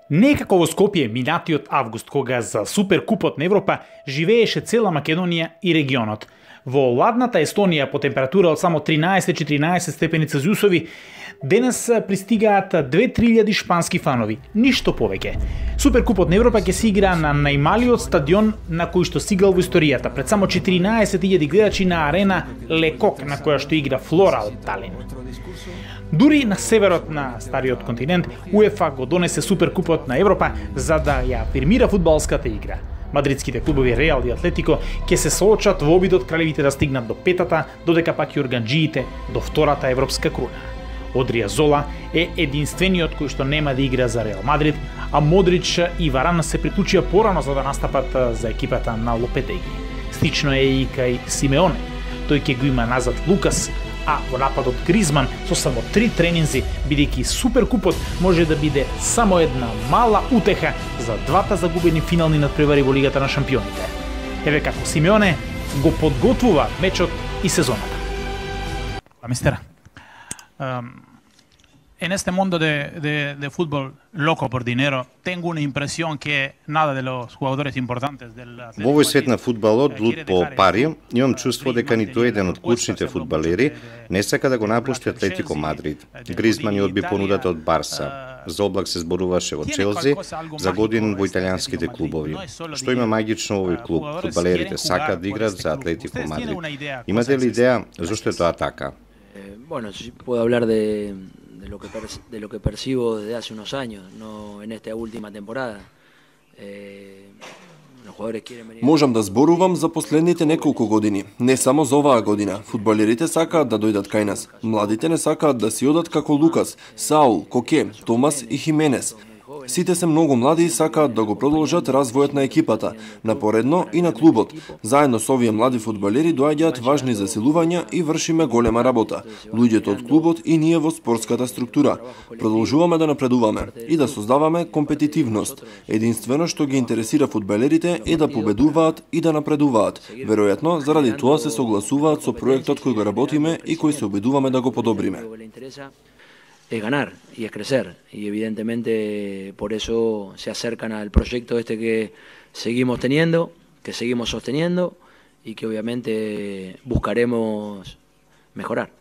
Некако во Скопје минатиот август, кога за Суперкупот на Европа живееше цела Македонија и регионот. Во ладната Естонија по температура од само 13-14 степени Целзиусови, денес пристигаат 2-3 шпански фанови, ништо повеќе. Суперкупот на Европа ќе се игра на најмалиот стадион на кој што стигал во историјата, пред само 14.000 гледачи на арена Лекок, на која што игра Флора од Талин. Дури на северот на стариот континент, УЕФА го донесе Суперкупот на Европа за да ја афирмира фудбалската игра. Мадридските клубови Реал и Атлетико ќе се соочат во обидот кралевите да стигнат до петата, додека пак јурганџиите до втората европска круна. Одријазола е единствениот кој што нема да игра за Реал Мадрид, а Модрич и Варан се приклучија порано за да настапат за екипата на Лопетеги. Слично е и кај Симеоне. Тој ќе го има назад Лукас, а во нападот Гризман со само 3 тренинзи, бидејќи Суперкупот може да биде само една мала утеха за двата загубени финални надпревари во Лигата на шампионите. Еве како Симеоне го подготвува мечот и сезоната. Mistera, en este mundo de fútbol loco por dinero, tengo una impresión que nada de los jugadores importantes del Atlético. Во овој свет на фудбалот, луд по пари, имам чувство дека ниту еден од клучните фудбалери не сака да го напушти Атлетико Мадрид. Гризман ја одби понудата од Барса. За Облак се зборуваше во Челси, за годин во италијанските клубови. Што има магично во овој клуб? Фудбалерите сакаат да играат за Атлетико Мадрид. Имате ли идеја зошто е тоа така? Bueno, sí puedo hablar de lo que percibo desde hace unos años, no en esta última temporada. Можам да зборувам за последните неколку години, не само за оваа година. Фудбалерите сакаат да дојдат кај нас. Младите не сакаат да си одат како Лукас, Саул, Коке, Томас и Хименес. Сите се многу млади и сакаат да го продолжат развојот на екипата, напоредно и на клубот. Заедно со овие млади фудбалери доаѓаат важни засилувања и вршиме голема работа. Луѓето од клубот и ние во спортската структура. Продолжуваме да напредуваме и да создаваме компетитивност. Единствено што ги интересира фудбалерите е да победуваат и да напредуваат. Веројатно, заради тоа се согласуваат со проектот кој го работиме и кој се обидуваме да го подобриме. Es ganar y es crecer, y evidentemente por eso se acercan al proyecto este que seguimos teniendo, que seguimos sosteniendo y que obviamente buscaremos mejorar.